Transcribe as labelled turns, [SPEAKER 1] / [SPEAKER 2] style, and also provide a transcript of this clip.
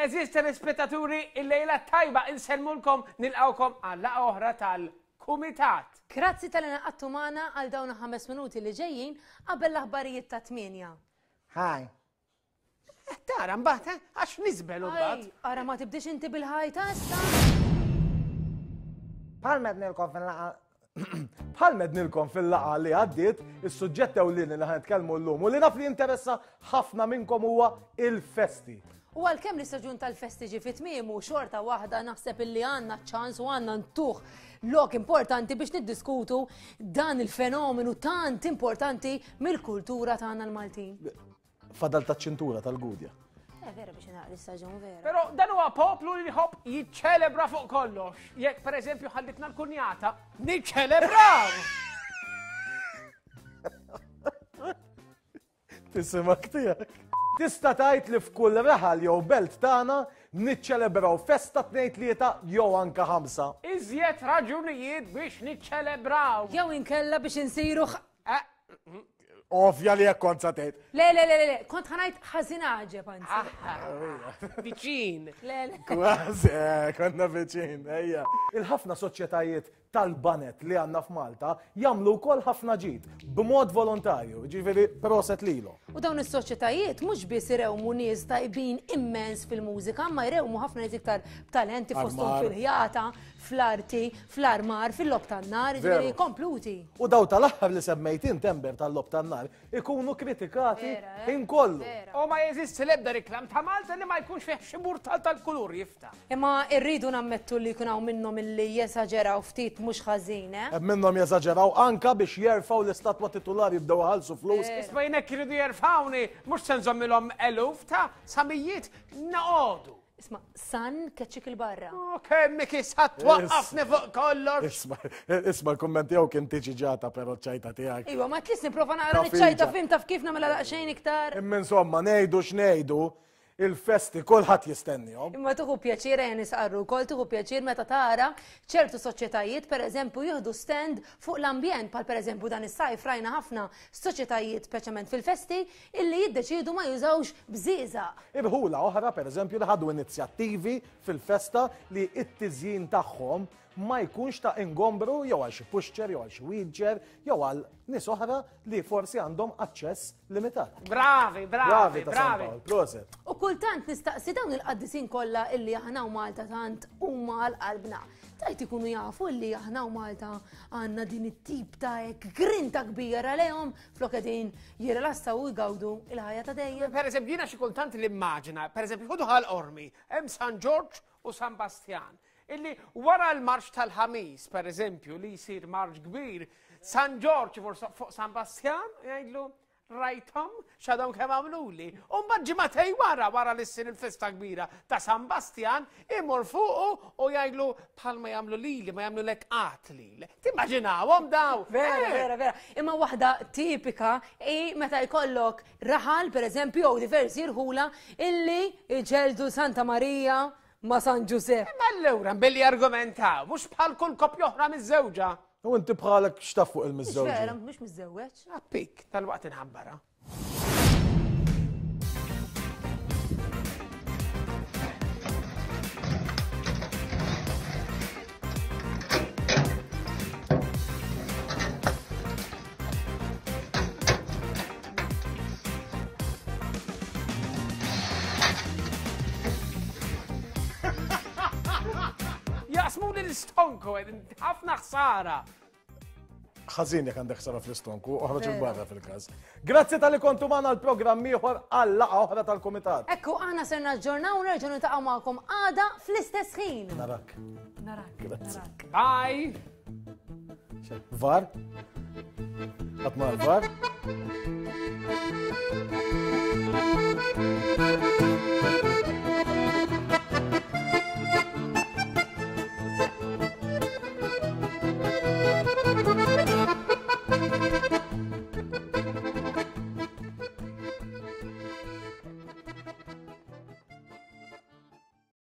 [SPEAKER 1] Eżiż telespettaturi, il-lejla tajba insellmulkom nilqawkom għal laqgħa oħra tal-Kumitat.
[SPEAKER 2] Grazzi talli ngħaqadtu magħna għal dawn il-ħames minuti li ġejjin qabel l-aħbarijiet ta' tmienja.
[SPEAKER 3] Hi.
[SPEAKER 1] Eh, tara mbagħad, eh, għax niżbel imbagħad.
[SPEAKER 2] Ara ma tibdix inti bil-ħajta issa.
[SPEAKER 3] Bħal mednilkom fil-laqa Bħal mednilkom fil-laqa li għaddiet, is-suġġett ewlieni li ħanitkellmu llum u li naf li jinteressa ħafna minnkom huwa il-festi.
[SPEAKER 2] U għalkemm l-istaġun tal-festi ġie fi tmiemu, xorta waħda naħseb illi għandna ċans u għandna ntuh lok importanti biex niddiskutu dan il-fenomenu tant importanti mill-kultura tagħna l-Maltin.
[SPEAKER 3] Fadal taċ-ċintura tal-Gudja.
[SPEAKER 2] Eh, vera biex naqra l-istaġun vera.
[SPEAKER 1] Però dan huwa poplu li jħobb jiċċelebra fuq kollox. Jekk pereżempju ħallitna l-kunjata, niċċelebraw!
[SPEAKER 3] Tisimak tiegħek. Tista' tgħid li f'kull raħal jew belt tagħna niċċelebraw festa tnejn tlieta jew anka ħamsa.
[SPEAKER 1] Iżjed raġunijiet biex niċċelebraw.
[SPEAKER 2] Jew inkella biex insiru
[SPEAKER 1] Eh,
[SPEAKER 3] Ovvja li jekk kont sa tgħid.
[SPEAKER 2] Le, le, le, le, kont ħanajt ħażin għaġeb anzi.
[SPEAKER 1] Viċin.
[SPEAKER 2] Le, le.
[SPEAKER 3] Kważi, eh, konna viċin, ejja. Il-ħafna soċjetajiet tal-banet li għandna f'Malta jagħmlu wkoll ħafna ġid b'mod volontarju, ġifieri proset lilu.
[SPEAKER 2] U dawn is-soċjetajiet mhux biss irewmu nies tajbin immens fil-mużika, ma jrewmu ħafna nies iktar b'talenti fosthom fil-ħjata, fl-arti, fl-armar, fil-logħob tan-nar, jiġifieri kompluti.
[SPEAKER 3] U daw tal-aħħar li semmejt int Ember tal-logħob tan-nar ikunu kritikati eh? ħin kollu.
[SPEAKER 1] U ma jeżisti l-ebda reklam ta' Malta li ma jkunx fih xi murtal tal-kulur jiftaħ.
[SPEAKER 2] Imma rridu nammettu li jkun hawn minnhom illi jesaġeraw ftit mhux ħażin, eh?
[SPEAKER 3] Hemm minnhom jesaġeraw anka biex jerfgħu l-istatwa titulari jibdew iħallsu flus.
[SPEAKER 1] Isma' jien hekk iridu jerfgħuni mhux se nżommilhom eluf ta' sa mijiet noqogħdu.
[SPEAKER 2] Isma, san keċċik il-barra.
[SPEAKER 1] Oh, kemm issa twaqqafni fuq kollox.
[SPEAKER 3] Isma, isma l-kumment tiegħu kien tiġi ġata però ċajta tiegħek.
[SPEAKER 2] Iwa, ma tlis nipprova naqra ċajta fim taf kif nagħmilha daqsxejn iktar.
[SPEAKER 3] Imma insomma, ngħidu x'ngħidu, il-festi kulħadd jistennihom.
[SPEAKER 2] Imma tuħu pjaċir ejja nisqarru wkoll tuħu pjaċir meta tara ċertu soċjetajiet pereżempju jieħdu stand fuq l-ambjent bħal pereżempju dan is-sajf rajna ħafna soċjetajiet speċjalment fil-festi illi jiddeċiedu ma jużawx bżieżaq.
[SPEAKER 3] Irħula oħra, pereżempju, li ħadu inizjattivi fil-festa li t-tiżjin tagħhom ma jkunx ta' ingombru jew għal xi pushchair jew għal xi wheelchair jew għal nies oħra li forsi għandhom aċċess limitat.
[SPEAKER 1] Bravi, bravi, bravi.
[SPEAKER 3] Proset.
[SPEAKER 2] U kultant nistaqsi dawn il-qaddisin kollha illi aħna u Malta tant huma għal qalbna. Tajt ikunu jafu illi aħna u Malta għandna din it-tip ta' hekk grinta kbira lejhom flok qegħdin jirrilassaw u jgawdu il-ħajja ta' dejjem.
[SPEAKER 1] Per eżempju, jiena xi kultant l-immaġina, per eżempju, ħudu ħal ormi, hemm San Ġorġ u San Bastjan, illi wara l-marċ tal-ħamis, per eżempju, li jsir marċ kbir, San Ġorġ fuq San Bastjan, jgħidlu, Rajthom x'għadhom kemm għamluli. U mbagħad ġimagħtej wara, wara li ssir il-festa kbira ta' San Bastjan, imur fuqu u jgħidlu bħalma jagħmlu lili, ma jagħmlulek qatt lili. Timmaġinawhom daw.
[SPEAKER 2] Vera, eh. vera, vera. Imma waħda tipika hi meta jkollok raħal, pereżempju, jew diversi rħula illi jġeldu Santa Marija ma' San Ġużepp.
[SPEAKER 1] Imma allura billi argumentaw, mhux bħal kull koppja oħra miż-żewġa.
[SPEAKER 3] U inti bħalek x'taf fuq il-miżżewġ?
[SPEAKER 2] Vera, mhux miżżewweġ.
[SPEAKER 1] Appik, tal-waqt inħabbara. Jaqsmu l-istonku, ħafna ħsara.
[SPEAKER 3] Ħażin jekk għandek ħsara fl-istonku, oħroġ il-barra fil-każ. Grazzi tal-li kontu magħna l-programm ieħor għal laqgħa oħra tal-kumitat.
[SPEAKER 2] Ekku aħna ser naġġornaw u nerġgħu niltaqgħu magħkom għada fl-istess ħin.
[SPEAKER 3] Narak.
[SPEAKER 2] Narak.
[SPEAKER 3] Grazzi.
[SPEAKER 1] Bye.
[SPEAKER 3] Var? Qatt ma var? Thank you.